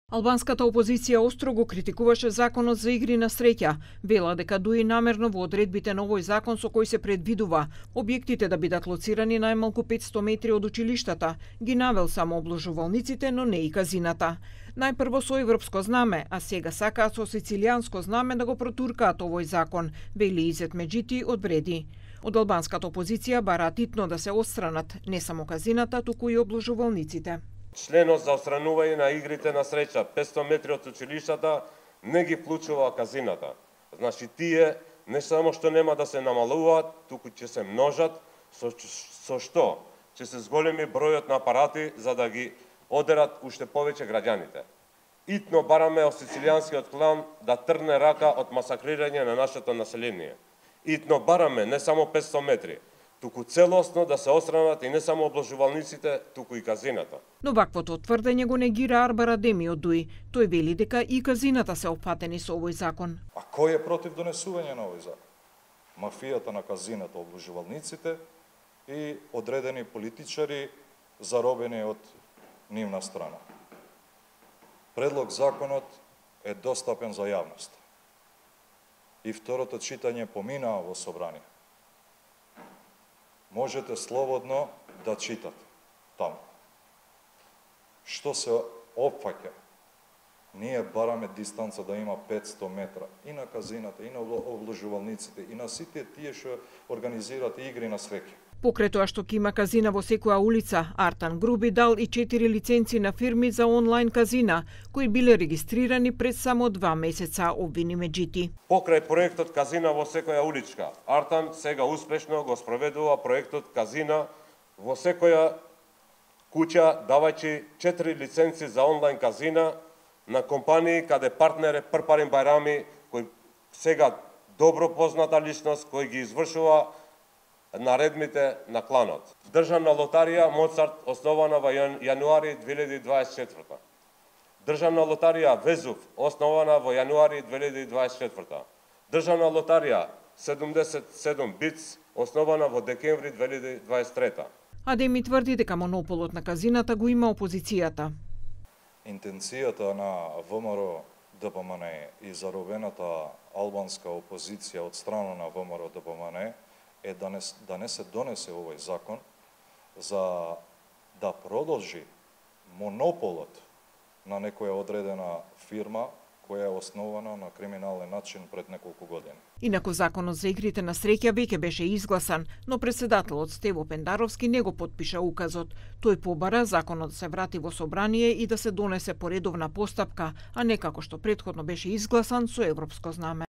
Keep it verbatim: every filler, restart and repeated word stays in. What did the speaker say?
Албанската опозиција остро го критикуваше законот за игри на среќа. Вела дека дуи намерно во одредбите на овој закон со кој се предвидува објектите да бидат лоцирани најмалку петсто метри од училиштата, ги навел само обложувалниците, но не и казината. Најпрво со европско знаме, а сега сакаат со сицилијанско знаме да го протуркаат овој закон, вели Изет Меджити од Бреди. Од албанската опозиција бараат итно да се отстранат не само казината, туку и обложувалниците. Членот за отстранување на игрите на среќа петсто метри од училиштата не ги вклучува казината. Значи тие не само што нема да се намалуваат, туку ќе се множат, со, со што ќе се зголеми бројот на апарати за да ги одерат уште повеќе граѓаните. Итно бараме од сицилијанскиот клан да трне рака од масакрирање на нашето население. Итно бараме не само петсто метри, туку целосно да се отстранат и не само обложувалниците, туку и казината. Но ваквото тврдење го негира Арбар Адеми од Дуи. Тој вели дека и казината се опфатени со овој закон. А кој е против донесување на овој закон? Мафијата на казината, обложувалниците и одредени политичари заробени од нивна страна. Предлог законот е достапен за јавност. И второто читање поминаа во собрание. Можете слободно да читате таму. Што се опфаќа? Ние бараме дистанца да има петсто метра и на казината, и на обложувалниците, и на сите тие што организираат игри на среќа. Покрај тоа што ќе има казина во секоја улица, Артан Груби дал и четири лиценци на фирми за онлайн казина, кои биле регистрирани пред само два месеца, обвини Меджити. Покрај проектот Казина во секоја уличка, Артан сега успешно го спроведува проектот Казина во секоја куќа, давајќи четири лиценци за онлайн казина на компании каде партнер е Прпарин Бајрами, кој сега добро позната личност, кој ги извршува наредбите на кланот. Државна лотарија Моцарт, основана во јануари две илјади дваесет и четврта. Државна лотарија Везув, основана во јануари две илјади дваесет и четврта. Државна лотарија седумдесет и седум Биц, основана во декември две илјади дваесет и трета. Адеми тврди дека монополот на казината го има опозицијата. Интенцијата на ВМРО Д П М Н и заробената албанска опозиција од страна на ВМРО Д П М Н е да не, да не се донесе овој закон за да продолжи монополот на некоја одредена фирма која е основана на криминален начин пред неколку години. Инаку законот за игрите на среќа веќе беше изгласан, но председателот Стево Пендаровски не го потпиша указот. Тој побара законот да се врати во собрание и да се донесе по редовна постапка, а не како што претходно беше изгласан со европско знаме.